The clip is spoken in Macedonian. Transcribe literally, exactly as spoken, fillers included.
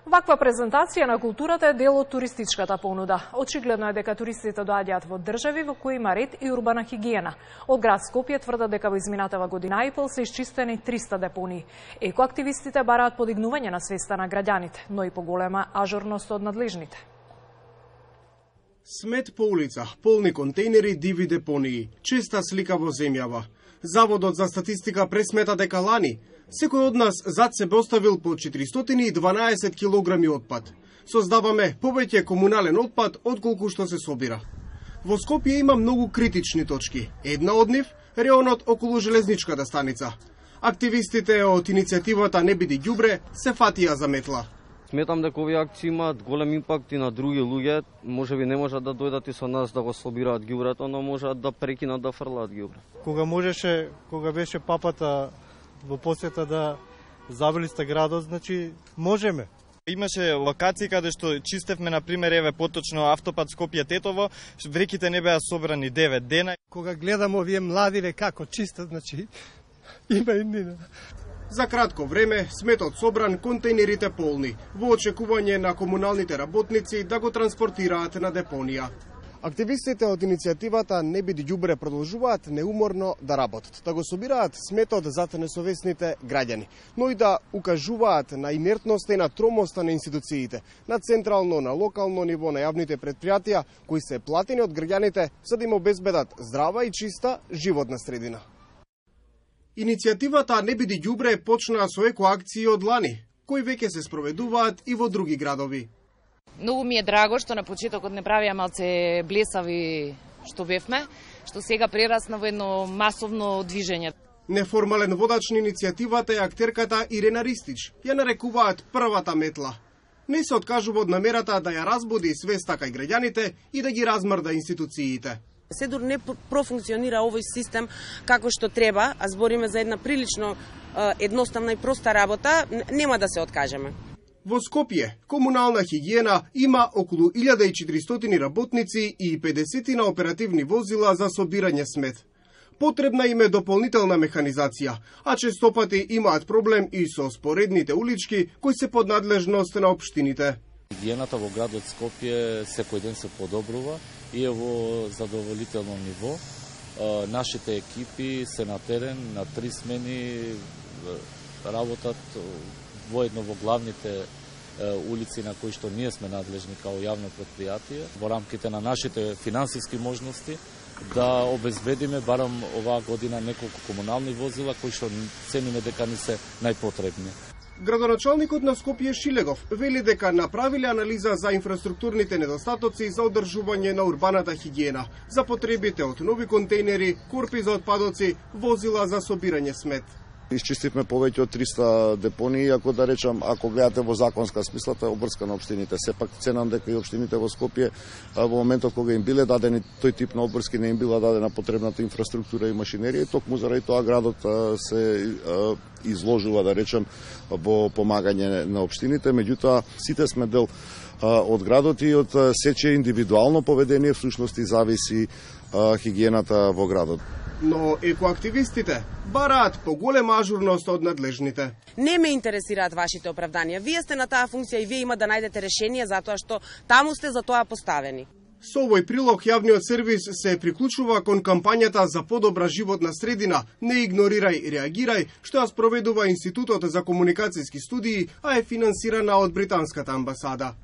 Ваква презентација на културата е дел од туристичката понуда. Очигледно е дека туристите доаѓаат во држави во кои има ред и урбана хигиена. Од град Скопје тврдат дека во изминатава година и пол се исчистени триста депонии. Екоактивистите бараат подигнување на свеста на граѓаните, но и поголема ажурност од надлежните. Смет по улица, полни контейнери, диви депонии, честа слика во земјава. Заводот за статистика пресмета дека лани секој од нас зад себе оставил по четиристотини и дванаесет килограми отпад. Создаваме повеќе комунален отпад отколку што се собира. Во Скопје има многу критични точки. Една од нив – реонот околу железничката станица. Активистите од иницијативата Не биди ѓубре се фатија за метла. Сметам дека овие акции имаат голем импакт и на други луѓе. Можеби не можат да дојдат и со нас да го собираат ѓубрето, но можат да прекинат да фрлаат ѓубре. Кога можеше, кога беше папата во посета да забелиста градот, значи можеме. Имаше локации каде што чистевме, на пример, еве поточно автопат Скопје-Тетово, вреките не беа собрани девет дена. Кога гледам овие младиве како чистат, значи има и нина. За кратко време сметот собран, контейнерите полни, во очекување на комуналните работници да го транспортираат на депонија. Активистите од иницијативата Не биди ѓубре продолжуваат неуморно да работат, да го собираат сметот зад несовесните граѓани, но и да укажуваат на инертноста и на тромоста на институциите, на централно, на локално ниво, на јавните предпријатија, кои се платени од граѓаните за да им обезбедат здрава и чиста животна средина. Иницијативата Не биди ѓубре почна со екоакции од лани, кои веќе се спроведуваат и во други градови. Многу ми е драго што на почетокот не правија малце блесави што бевме, што сега прерасна во едно масовно движење. Неформален водач на иницијативата е актерката Ирена Ристич. Ја нарекуваат првата метла. Не се откажува од намерата да ја разбуди свеста кај граѓаните и да ги размрда институциите. Се дур не профункционира овој систем како што треба, а збориме за една прилично едноставна и проста работа, нема да се откажеме. Во Скопје, комунална хигиена има околу илјада и четиристотини работници и педесет на оперативни возила за собирање смет. Потребна им е дополнителна механизација, а честопати имаат проблем и со споредните улички кои се под надлежност на општините. Хигиената во градот Скопје секој ден се подобрува и е во задоволително ниво. Нашите екипи се на терен, на три смени работат воедно во главните улици на кои што ние сме надлежни као јавно предпријатие, во рамките на нашите финансиски можности, да обезбедиме барам оваа година неколку комунални возила кои што цениме дека ни се најпотребни. Градоначалникот на Скопје Шилегов вели дека направиле анализа за инфраструктурните недостатоци за одржување на урбаната хигиена, за потребите од нови контейнери, корпи за отпадоци, возила за собирање смет. Исчистивме повеќе од триста депонии, ако да речам, ако гледате во законска смисла, тоа е обврска на општините. Сепак ценам дека и општините во Скопје во моментот кога им биле дадени тој тип на обврски, не им била дадена потребната инфраструктура и машинерија, и токму заради тоа градот се изложува, да речам, во помагање на општините. Меѓутоа, сите сме дел од градот и од сече индивидуално поведение всушност и зависи хигиената во градот. Но екоактивистите бараат поголема ажурност од надлежните. Не ме интересираат вашите оправданија. Вие сте на таа функција и вие има да најдете решение затоа што таму сте за тоа поставени. Со овој прилог јавниот сервис се приклучува кон кампањата за подобра животна средина Не игнорирај, реагирај, што ја спроведува Институтот за комуникацијски студии, а е финансирана од британската амбасада.